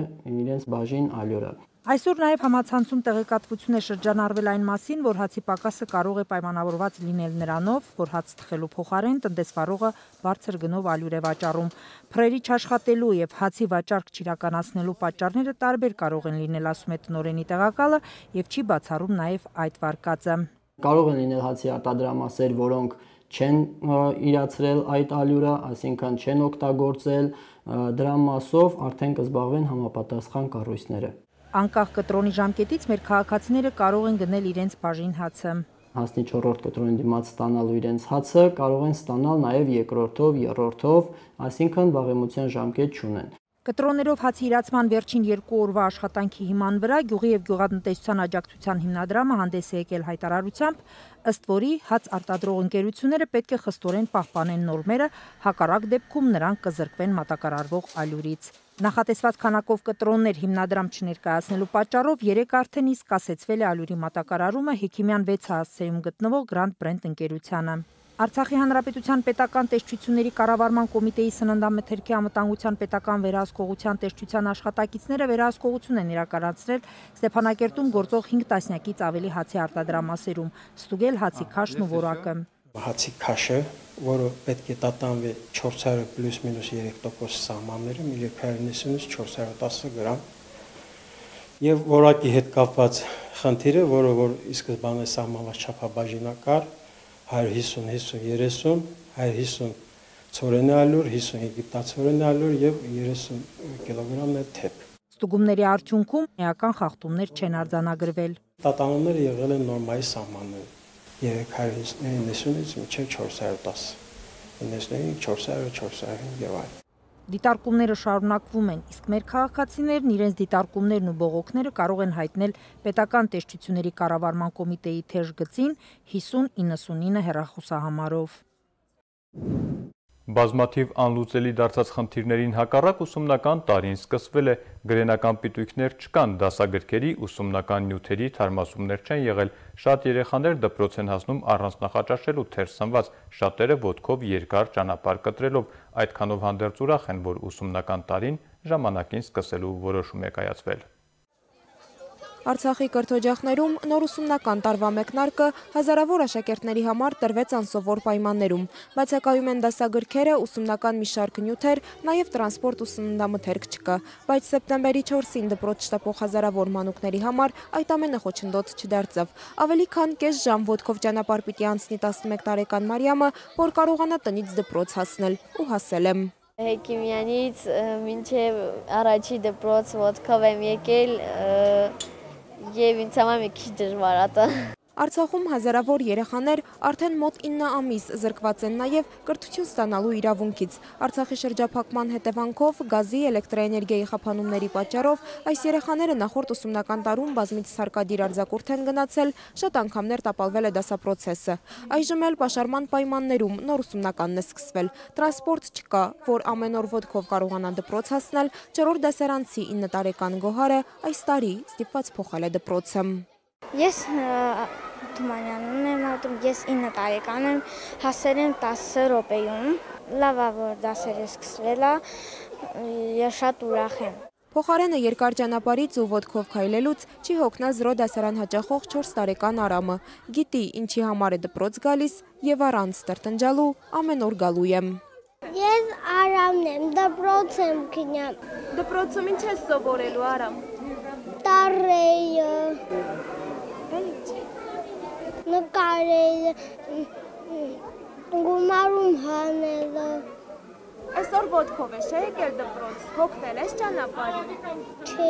իրենց բաժին ալյուրը։
Այսօր նաև համացանցում տեղեկատվություն է շրջանառվել այն մասին, որ հացի պակասը կարող է պայմանավորված լինել նրանով, որ հաց թխելու փոխարեն տնտեսվարողը բարձր գնով ալյուր է վաճառում։ Փրերի չաշխատելու եւ հացի վաճառք չիրականացնելու պատճառները տարբեր կարող են լինել, ասում է տնօրենի տեղակալը եւ չի բացառում նաև այդ վարկածը։
Կարող են լինել հացի արտադրամասեր, որոնք չեն իրացրել այդ ալյուրը, այսինքն չեն օգտագործել, դրա մասով արդեն կզբաղվեն համապատասխան կառույցները։
Անկախ կտրոնի ժամկետից մեր քաղաքացիները կարող են գնել իրենց բաժին հացը։
Հասնի 4-րդ կտրոնի դիմաց ստանալու իրենց հացը կարող են ստանալ նաև երկրորդով, երրորդով, այսինքն վաղեմության ժամկետ չունեն։
Կտրոններով հացի իրացման վերջին 2 օրվա աշխատանքի հիման վրա Գյուղի և գյուղատնտեսության աջակցության հիմնադրամը հանդես է եկել հայտարարությամբ, ըստ որի հաց արտադրող ընկերությունները պետք է խստորեն պահպանեն նորմերը, հակառակ դեպքում նրանք կզրկվեն մատակարարվող ալյուրից։ Նախատեսված քանակով կտրոններ հիմնադրամ չներկայացնելու պատճառով 3 արդեն իսկ կասեցվել է ալյուրի մատակարարումը Հեքիմյան 6 հասցեում գտնվող Grand Brand ընկերությանը։ Արցախի Հանրապետության պետական տեսչությունների կառավարման կոմիտեի սննդամթերքի անվտանգության պետական վերահսկողության տեսչության աշխատակիցները վերահսկողություն են իրականացրել Ստեփանակերտում գործող 5 տասնյակից ավելի հացի արտադրամասերում, ստուգել հացի քաշն ու որակը։
Հացի քաշը, որը պետք է տատանվի 400 պլյուս մինուս 3% սահմաններում 390-ից 410 գրամ, եւ որակի հետ կապված խնդիրը, որը որ ի սկզբանե սահմանված չափաբաժինակար 150, 50, 30, 150 ցորենի ալյուր, 50 եգիպտացորենի ալյուր եւ 30 կիլոգրամ թեփ։
Ստուգումների արդյունքում էական խախտումներ չեն արձանագրվել։
Տատանումները եղել են նորմայի սահմաններում 390-ից մինչև 410, 95, 400, 405 եւ այլն։
Դիտարկումները շարունակվում են, իսկ մեր քաղաքացիներն իրենց դիտարկումներն ու բողոքները կարող են հայտնել պետական տեսչությունների կառավարման կոմիտեի թեժ գծին 5099 հեռախոսահամարով։
Բազմաթիվ անլուծելի դարձած խնդիրներին հակառակ ուսումնական տարին սկսվել է, գրենական պիտույքներ չկան, դասագրքերի, ուսումնական նյութերի թարմացումներ չեն եղել, շատ երեխաներ դպրոց են հասնում առանց նախաճաշելու թերթ սնված, շատերը ոտքով երկար ճանապարհ կտրելով, այդքանով հանդերձ ուրախ են, որ ուսումնական տարին ժամանակին սկսելու որոշում է կայացվել։
Արցախի կրթօջախներում նոր ուսումնական տարվա մեկնարկը հազարավոր աշակերտների համար տրվեց անսովոր պայմաններում։ Բացակայում են դասագրքերը, ուսումնական մի շարք նյութեր, նաև տրանսպորտ ու սննդամթերք չկա։ Բայց սեպտեմբերի 4-ին դպրոց շտապող հազարավոր մանուկների համար այդ ամենը խոչընդոտ չդարձավ։ Ավելի քան կես ժամ ոտքով ճանապարհ պիտի անցնի 11 տարեկան Մարիամը, որ կարողանա տնից դպրոց հասնել, ու հասել եմ։
Հեքիմյանից մինչև առաջի դպրոց ոտքով եմ եկել, և ինձ համար մի քիչ դժվար է։
Արցախում հազարավոր երեխաներ արդեն մոտ 9 ամիս զրկված են նաև կրթություն ստանալու իրավունքից։ Արցախի շրջափակման հետևանքով գազի, էլեկտրաէներգիայի խափանումների պատճառով այս երեխաները նախորդ ուսումնական տարում բազմիցս հարկադիր արձակուրդ են գնացել, շատ անգամներ տապալվել է դասապրոցեսը։ Այժմ էլ պաշարման պայմաններում նոր ուսումնականն է սկսվել։ Տրանսպորտ չկա, որ ամեն օր ոտքով կարողանան դպրոց հասնել, 4-րդ դասարանցի 9 տարեկան Գոհարը այս տարի ստիպված փոխել է դպրոցը։
Ես Թումանյանն եմ ատում, ես 9 տարեկան եմ, հասել եմ 10 րոպեում, լավ է, որ դասերը սկսվել է, ես շատ ուրախ եմ։
Փոխարենը երկար ճանապարհից ու ոտքով քայլելուց չի հոգնա 0 դասարան հաճախող 4 տարեկան Արամը։ Գիտի ինչի համար է դպրոց գալիս եւ առանց տրտնջալու ամեն օր գալու եմ։
Ես Արամն եմ, դպրոց եմ գնամ։
Դպրոցում ինչ ես սովորելու, Արամ։
Տառեյը, նկարելը, գումարում հանելը։
Այսօր ոտքով ես եկել դպրոց, հոգնել ես ճանապարհին։
Չէ։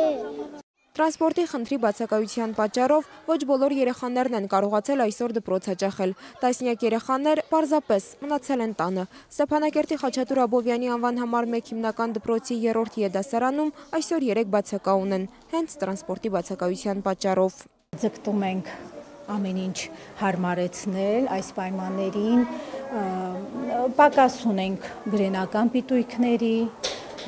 Տրանսպորտի խնդրի բացակայության պատճառով ոչ բոլոր երեխաներն են կարողացել այսօր դպրոց հաճախել։ Տասնյակ երեխաներ պարզապես մնացել են տանը։ Ստեփանակերտի Խաչատուր Աբովյանի անվան համար 1 հիմնական դպրոցի 3-րդ դասարանում այսօր 3 բացակա ունեն, հենց տրանսպորտի բացակայության պատճառով։
Ձգտում ենք ամեն ինչ հարմարեցնել այս պայմաններին, պակաս ունենք գրենական պիտույքների,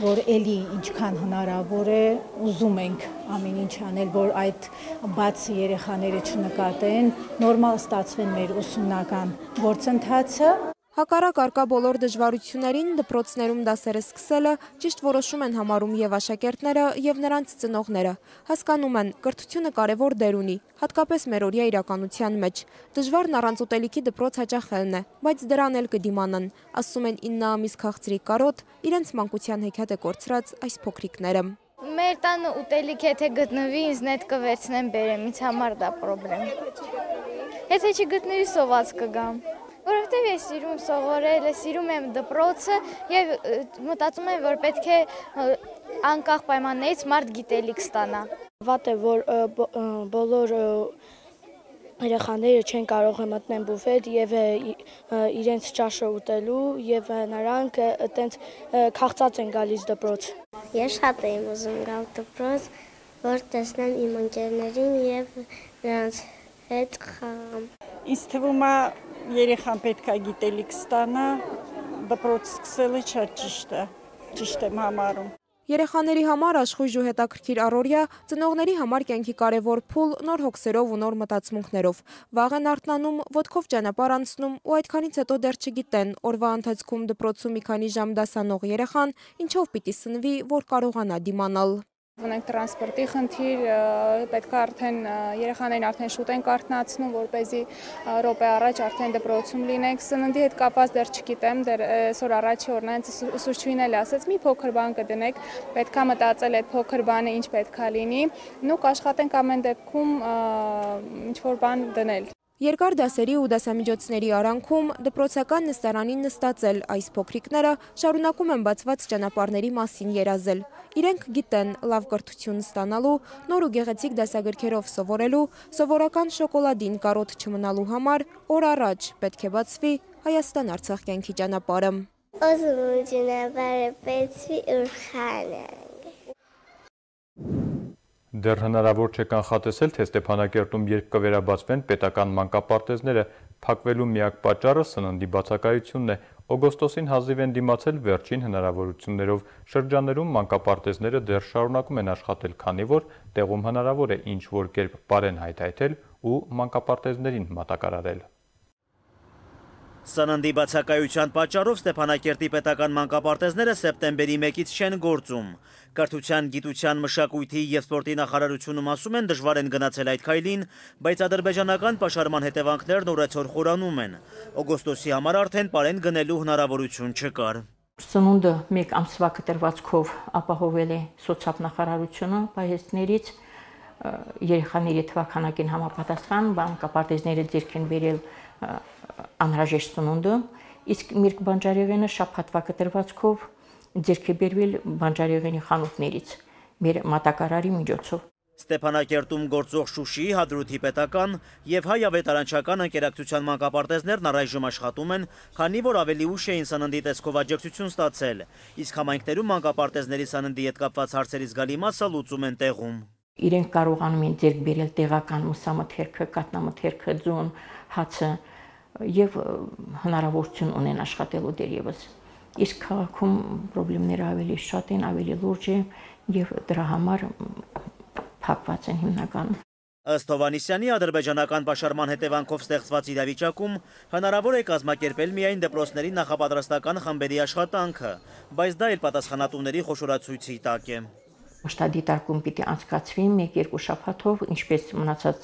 որ էլի ինչքան հնարավոր է ուզում ենք ամեն ինչ անել, որ այդ բաց երեխաները չնկատեն, նորմալ ստացվեն մեր ուսումնական գործընթացը։
Հակառակ առկա բոլոր դժվարություններին դպրոցներում դասերը սկսելը ճիշտ որոշում են համարում եւ աշակերտները եւ նրանց ծնողները։ Հասկանում են, կրթությունը կարևոր դեր ունի, հատկապես մերօրյա իրականության մեջ։ Դժվարն առանց ուտելիքի դպրոց հաճախելն է, բայց դրան էլ կդիմանան, ասում են 9 ամիս քաղցրի կարոտ, իրենց մանկության հեքիաթ է կորցրած այս փոքրիկները։
Մեր տանը ուտելիք եթե գտնվի, ինձ նետ կվերցնեմ բերեմ, ինձ համար դա պրոբլեմ։ Եթե չգտնվի, սոված կգամ։ Որովհետև ես սիրում սովորել, սիրում եմ դպրոցը եւ մտածում եմ, որ պետք է անկախ պայմաններից մարդ գիտելիք ստանա։
Վատ է, որ բոլոր երեխաները չեն կարող մտնել բուֆետ եւ իրենց ճաշը ուտելու եւ նրանք այտենց քաղցած են գալիս դպրոց։ Ես շատ եմ ուզում գալ դպրոց, որ տեսնեմ իմ ընկերներին եւ նրանց հետ խաղամ։
Ինձ թվում է երեխան պետք է գիտելիք ստանա, դպրոց սկսելը շատ ճիշտ եմ համարում։
Երեխաների համար աշխույժ ու հետաքրքիր առօրյա, ծնողների համար կյանքի կարևոր փուլ նոր հոգսերով ու նոր մտածմունքներով։ Վաղ են արթնանում, ոտքով ճանապարհ անցնում ու այդքանից հետո դեռ չգիտեն օրվա ընթացքում դպրոցում մի քանի ժամ դասանող երեխան ինչով պիտի սնվի, որ կարողանա դիմանալ։
Ունենք տրանսպորտի խնդիր, պետք է արդեն երեխաներին արդեն շուտ են կարթնացնում, որպեսզի րոպե առաջ արդեն դպրոցում լինենք։ Սննդի հետ կապված դեռ չգիտեմ, դեռ այսօր առաջի օրն այնց ուսուցչուհին էլ ասեց, մի փոքր բան կդնեք, պետք է մտածել այդ փոքր բանը ինչ պետք է լինի, ու կաշխատենք ամեն դեպքում ինչ-որ բան դնել։
Երկար դասերի ու դասամիջոցների արանքում դպրոցական նստարանին նստածել այս փոքրիկները շարունակում են բացված ճանապարհների մասին երազել։ Իրենք գիտեն լավ կրթություն ստանալու, նոր ու գեղեցիկ դասագրքերով սովորելու, սովորական շոկոլադին կարոտ չմնալու համար օր առաջ պետք է բացվի Հայաստան-Արցախ կյանքի ճանապարհը։
Ուզում եմ ճանապարհը բացվի ու խաղանք։
Դեռ հնարավոր չէ կանխատեսել, թե Ստեփանակերտում երբ կվերաբացվեն պետական մանկապարտեզները, փակվելու միակ պատճառը սննդի բացակայությունն է։ Օգոստոսին հազիվ են դիմացել վերջին հնարավորություններով։ Շրջաններում մանկապարտեզները դեռ շարունակում են աշխատել, քանի որ տեղում հնարավոր է ինչ-որ կերպ բարեն հայթայթել ու մանկապարտեզներին մատակարարել։
Սննդի բացակայության պատճառով Ստեփանակերտի պետական մանկապարտեզները սեպտեմբերի 1-ից չեն գործում։ Կրթության, գիտության, մշակույթի և սպորտի նախարարությունում ասում են դժվար են գնացել այդ քայլին, բայց ադրբեջանական պաշարման հետևանքներն օրեցօր խորանում են։ Օգոստոսի համար արդեն պարեն գնելու հնարավորություն չկար։
Սնունդը մեկ ամսվա կտրվածքով ապահովել է սոցիալ պահեստներից, երեխաների թվաքանակին համապատասխան մանկապարտեզները ձեռք են բերել անհրաժեշտ սնունդը, իսկ Միրգ բանջարեղենը շաբաթվա կտրվածքով ձեռք է բերվել բանջարեղենի խանութներից մեր մատակարարի միջոցով։
Ստեփանակերտում գործող Շուշիի Հադրութի պետական եւ հայ ավետարանչական ընկերակցության մանկապարտեզներն առայժմ աշխատում են, քանի որ ավելի ուշ էին սննդի տեսքով աջակցություն ստացել, իսկ համայնքներում մանկապարտեզների սննդի հետ կապված հարցերի զգալի մասը լուծում են տեղում։
Իրենք կարողանում են ձեռք բերել տեղական մսամթերքը, կատնամթերքը, ձուն, հացը եւ հնարավորություն ունեն աշխատելու դերևս։ Իսկ քաղաքում խնդիրները ավելի շատ են, ավելի լուրջ են եւ դրա համար փակված են հիմնականում։
Ըստ Հովհաննիսյանի ադրբեջանական պաշարման հետևանքով ստեղծված իրավիճակում հնարավոր է կազմակերպել միայն դպրոցների նախապատրաստական խմբերի աշխատանքը, բայց դա էլ պատասխանատուների խոշորացույցի տակ է։
Մշտադիտարկում պիտի անցկացվի 1-2 շաբաթով, ինչպես մնացած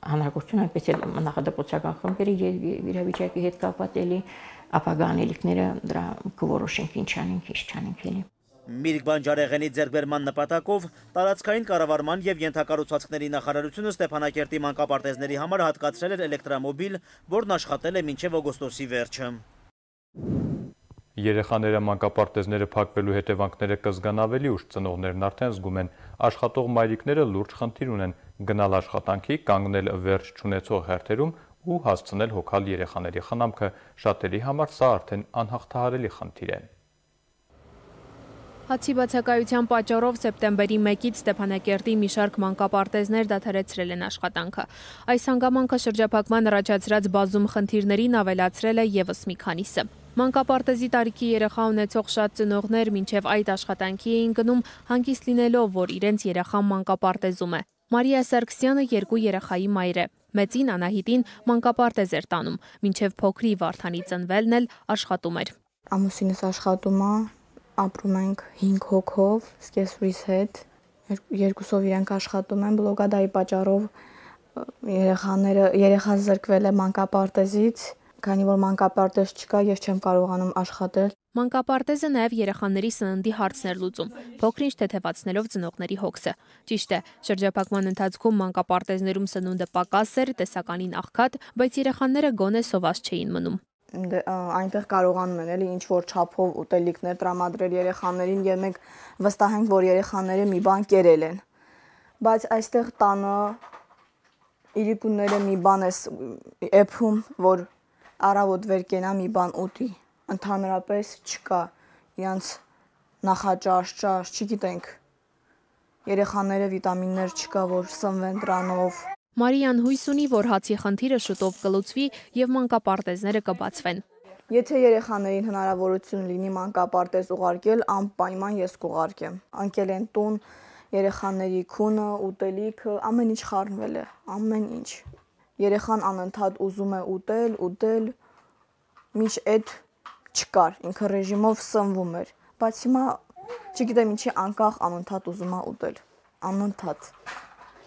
հանրագործություն, այնպես էլ նախադպրոցական խմբերի եւ իրավիճակի հետ կապված էլի ապագա անելիքները դրա կորոշենք ինչ անենք, ինչ չանենք էլի։
Միրգ բանջարեղենի ձեռքբերման նպատակով տարածքային կառավարման եւ ենթակառուցվածքների նախարարությունը Ստեփանակերտի մանկապարտեզների համար հատկացրել էր էլեկտրամոբիլ, որն աշխատել է մինչեւ օգոստոսի վերջը։
Երեխաները մանկապարտեզները փակվելու հետևանքները կզգան ավելի ուշ, ծնողներն արդեն զգում են, աշխատող մայրիկները լուրջ խնդիր ունեն գնալ աշխատանքի, կանգնել վերջ չունեցող հերթերում ու հասցնել հոգալ երեխաների խնամքը, շատերի համար սա արդեն անհաղթահարելի խնդիր է։
Հացի բացակայության պատճառով սեպտեմբերի 1-ից Ստեփանակերտի մի շարք մանկապարտեզներ դադարեցրել են աշխատանքը։ Այս հանգամանքը շրջափակման առաջացրած բազում խնդիրներին ավելացրել է եւս մի քանիսը։ Մանկապարտեզի տարիքի երեխա ունեցող շատ ծնողներ մինչև այդ աշխատանքի էին գնում հանգիստ լինելով, որ իրենց երեխան մանկապարտեզում է։ Մարիա Սարգսյանը 2 երեխայի մայր է։ Մեծին Անահիտին մանկապարտեզ էր տանում, մինչև փոքրի Վարդանի ծնվելն էլ աշխատում էր։
Ամուսինս աշխատում է, ապրում ենք 5 հոգով, սկեսուրիս հետ, երկուսով իրենք աշխատում են, բլոկադայի պատճառով երեխան զրկվել է մանկապարտեզից, քանի որ մանկապարտեզ չկա, ես չեմ կարողանում աշխատել։
Մանկապարտեզը նաև երեխաների սննդի հարցն էր լուծում, փոքր-ինչ թեթևացնելով ծնողների հոգսը։ Ճիշտ է, շրջափակման ընթացքում մանկապարտեզներում սնունդը պակաս էր, տեսականին աղքատ, բայց երեխաները գոնե սոված չէին մնում։
Այնտեղ կարողանում են էլի ինչ որ չափով ուտելիքներ տրամադրել երեխաներին եւ մենք վստահ ենք, որ երեխաները մի բան կերել են։ Բայց այստեղ տանը իրիկունները մի բան է էփում, որ առավոտ վեր կենա մի բան ուտի, ընդհանրապես չկա, իրանց նախաճաշ, չգիտենք, երեխաները վիտամիններ չկա, որ սնվեն դրանով։
Մարիան հույս ունի, որ հացի խնդիրը շուտով կլուծվի եւ մանկապարտեզները կբացվեն։
Եթե երեխաներին հնարավորություն լինի մանկապարտեզ ուղարկել, անպայման ես կուղարկեմ։ Անկել են տուն, երեխաների քունը, ուտելիքը, ամեն ինչ խառնվել է, ամեն ինչ։ Երեխան անընդհատ ուզում է ուտել, մինչ այդ չկար, ինքը ռեժիմով սնվում էր, բայց հիմա չգիտեմ ինչի անկախ անընդհատ ուզում է ուտել, անընդհատ։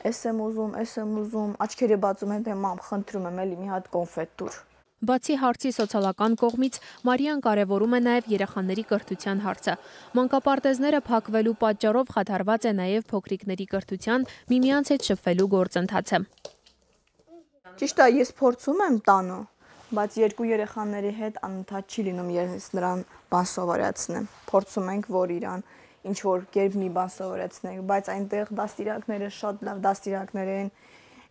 Ես եմ ուզում, աչքերը բացում են, թե մամ, խնդրում եմ, էլի մի հատ կոնֆետ տուր։
Բացի հարցի սոցիալական կողմից, Մարիան կարևորում է նաև երեխաների կրթության հարցը։ Մանկապարտեզները փակվելու պատճառով խաթարված է նաև փոքրիկների կրթության, միմյանց հետ շփվելու գործընթացը։
Ճիշտ է, ես փորձում եմ տանը, բայց 2 երեխաների հետ անընդհատ չի լինում, ես նրան բան սովորեցնեմ։ Փորձում ենք, որ իրան ինչ որ կերպ մի բան սովորեցնենք, բայց այնտեղ դաստիարակները շատ լավ դաստիարակներ են,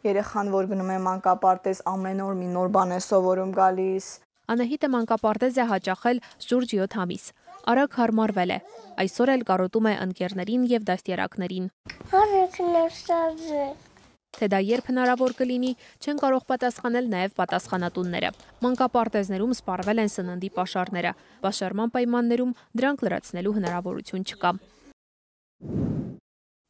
երեխան, որ գնում է մանկապարտեզ, ամեն օր մի նոր բան է սովորում գալիս։
Անահիտը մանկապարտեզ է հաճախել շուրջ 7 ամիս։ Արագ հարմարվել է։ Այսօր էլ կարոտում է ընկերներին եւ դաստիարակներին։ Թե դա երբ հնարավոր կլինի, չեն կարող պատասխանել նաև պատասխանատունները։ Մանկապարտեզներում սպառվել են սննդի պաշարները։ Պաշարման պայմաններում դրանք լրացնելու հնարավորություն չկա։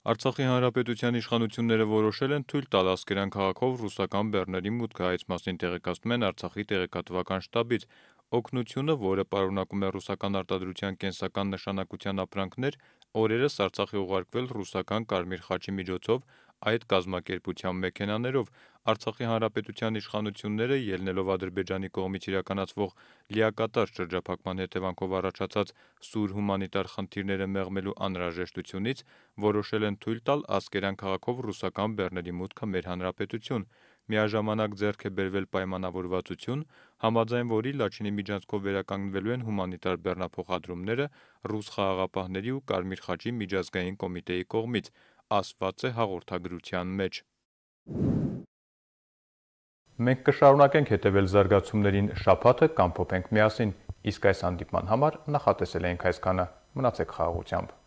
Արցախի հանրապետության իշխանությունները որոշել են թույլ տալ Ասկերան քաղաքով ռուսական բեռների մուտքը, այս մասին տեղեկացնում են Արցախի տեղեկատվական շտաբից։ Օգնությունը, որը պարունակում է ռուսական արտադրության կենսական նշանակության ապրանքներ, օրերս Արցախի ուղարկվել ռուսական Կարմիր խաչի միջոցով այդ կազմակերպության մեքենաներով։ Արցախի հանրապետության իշխանությունները, ելնելով Ադրբեջանի կողմից իրականացվող լիակատար շրջափակման հետևանքով առաջացած սուր հումանիտար խնդիրները մեղմելու անհրաժեշտությունից, որոշել են թույլ տալ Ասկերան քաղաքով ռուսական բեռների մուտքը մեր հանրապետություն։ միաժամանակ ձեռք է բերվել պայմանավորվածություն, համաձայն որի Լաչինի միջանցքով վերականգնվելու են հումանիտար բեռնափոխադրումները ռուս խաղաղապահների ու Կարմիր խաչի միջազգային կոմիտեի կողմից, ասված է հաղորդագրության մեջ։ Մենք կշարունակենք հետևել զարգացումներին շաբաթը կամփոփենք միասին, իսկ այս հանդիպման համար նախատեսել ենք այսքանը, մնացեք խաղաղությամբ։